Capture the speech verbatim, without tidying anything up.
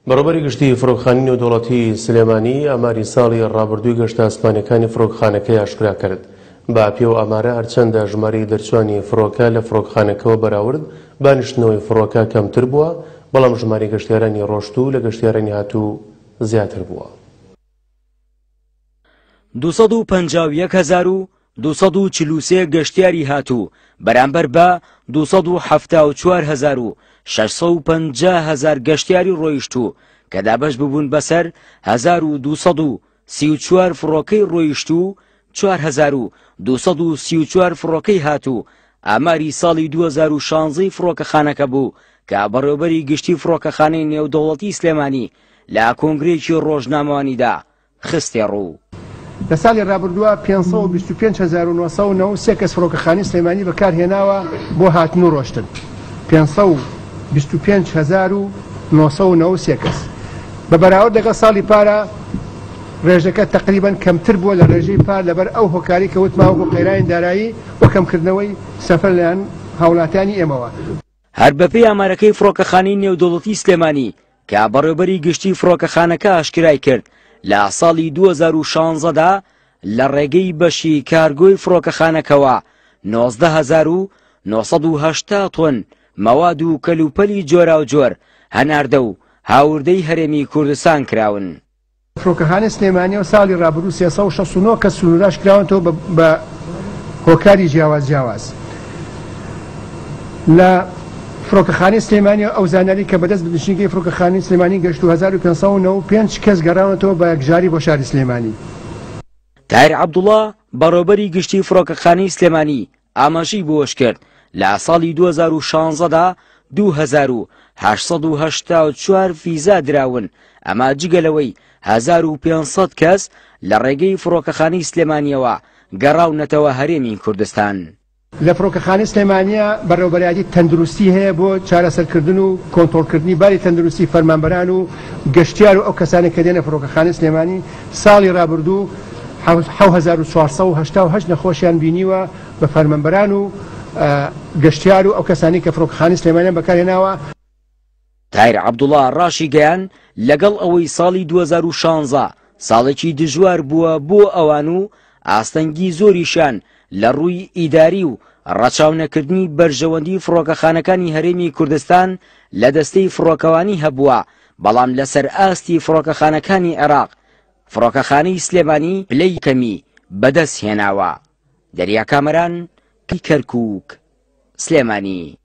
بەڕێوەبەری گشتی فڕۆکخانەی نێودەوڵەتی سلێمانی ئاماری ساڵی ڕابردووی گەشتە ئاسمانیەکانی فڕۆکخانەکەی ئاشکرا کرد. بە پێ و ئامارە هەرچەندە ژمارەی دەرچوانی فڕۆکە لە فڕۆکخانەکەوە بەراورد بە نیشتنەوەی فڕۆکە کەمتر بووە، بەڵام ژمارەی گەشتیارانی ڕۆشتوو لە گەشتیارانی هاتوو زیاتر بووە. دوو سەد و پەنجا و یەک هەزار و دوو سەد و چل و سێ گەشتیاری هاتوو بەرامبەر بە دوو سەد و حەفتا و چوار هەزار و شەش سەد و پەنجا هەزار گەشتیاری ڕۆیشتوو کە دابەش ببوون بەسەر هەزار و دوو سەد و سی و چوار فڕۆکەی ڕۆیشتوو چوار هەزار و دوو سەد و سی و چوار فڕۆکەی هاتوو. ئاماری ساڵی دوو هەزار و شانزەی فڕۆکەخانەکە بوو کە بەڕێوەبەری گشتی فڕۆکەخانەی نێودەوڵەتی سلێمانی لە کۆنگرێکی ڕۆژنامەوانیدا خستێ ڕوو. لە ساڵی ڕابردووە پێنج سەد و بیست و پێنج هەزار و نۆ سەد و نەوەد و سێ کەس فڕۆکەخانەی سلێمانی بەکارهێناوە بۆ هاتن و ڕۆشتن. پێنج سەد و بیست و پێنج هەزار و نۆ سەد و نەوەد و سێ کەس بە بەراورد لەگەڵ ساڵی پارە ڕێژەکە تقریباً کەمتر بووە لە ڕێژەی پار لەبەر ئەو هۆکاری کە وتماوە بۆ قەیرانی دارایی و کەمکردنەوەی سەفەر لەلایەن هاوڵاتیانی ئێمەوە. هەر بەپێی ئامارەکەی فڕۆکەخانەی نێودەوڵەتی سلێمانی کە بەڕێوەبەری گشتی فڕۆکەخانەکە ئاشکرای کرد لە ساڵی دوو هەزار و شانزەدا لە ڕێگەی بەشی کارگۆی فڕۆکەخانەکەوە نۆزدە هەزار و نۆ سەد و هەشتا تۆن مەواد و کەلوپەلی جۆراوجۆر هەناردە و هاوردەی هەرێمی کوردستان کراون. فڕۆکەخانەی سلێمانیەوە ساڵی ڕابردوو سێ سەد و شەست و نۆ کەس سنووراش کراونەتەوە بە هۆکاری جیاواز جیاواز. لە فڕۆکەخانەی سلێمانی ئەو زانیاری کە بەدەست بنشینگەی فڕۆکەخانەی سلێمانی گەشت و هەزار و پێنج سەد و نەوەد و پێنج کەس گەڕاونەتەوە بە یەکجاری بۆ شاری سلێمانی. تاهیر عەبدوڵڵا بەڕێوەبەری گشتی فڕۆکەخانەی سلێمانی ئاماژەی بۆش کرد لە ساڵی دوو هەزار و شانزەدا دوو هەزار و هەشت سەد و هەشتا و چوار فیزا دراون، ئەما جگە لەوەی هەزار و پێنج سەد کەس لە ڕێگەی فڕۆکەخانەی سلێمانیەوە گەڕاونەتەوە هەرێمی کوردستان. لە فڕۆکەخانەی سلێمانیە بەڕێوەبەرایەتی تەندروستی هەیە بۆ چارەسەرکردن و کۆنترۆڵکردنی باری تەندروستی فەرمانبەران و گەشتیار و ئەو کەسانە کە دێنە فڕۆکەخانەی سلێمانی. ساڵی ڕابردوو حەو هەزار و چوار سەد و هەشتا و هەشت نەخۆشیان بینیوە بە فەرمانبەران و گەشتیار و ئەو کەسانی کە فڕۆکەخانەی سلێمانیان بەکارهێناوە. تاهیر عەبدوڵڵا ڕاشی گەیان لەگەڵ ئەوەی ساڵی دوو هەزار و شانزە ساڵێکی دژوار بووە بۆ ئەوان و ئاستەنگی زۆریشان لە ڕووی ئیداری و ڕەچاونەکردنی بەرژەوەندی فڕۆکەخانەکانی هەرێمی کوردستان لە دەستەی فڕۆکەوانی هەبووە، بەڵام لەسەر ئاستی فڕۆکەخانەکانی عێراق فڕۆکەخانەی سلێمانی پلەی کەمی بەدەست هێناوە. دەریا کامەران، کەرکووک، سلێمانی.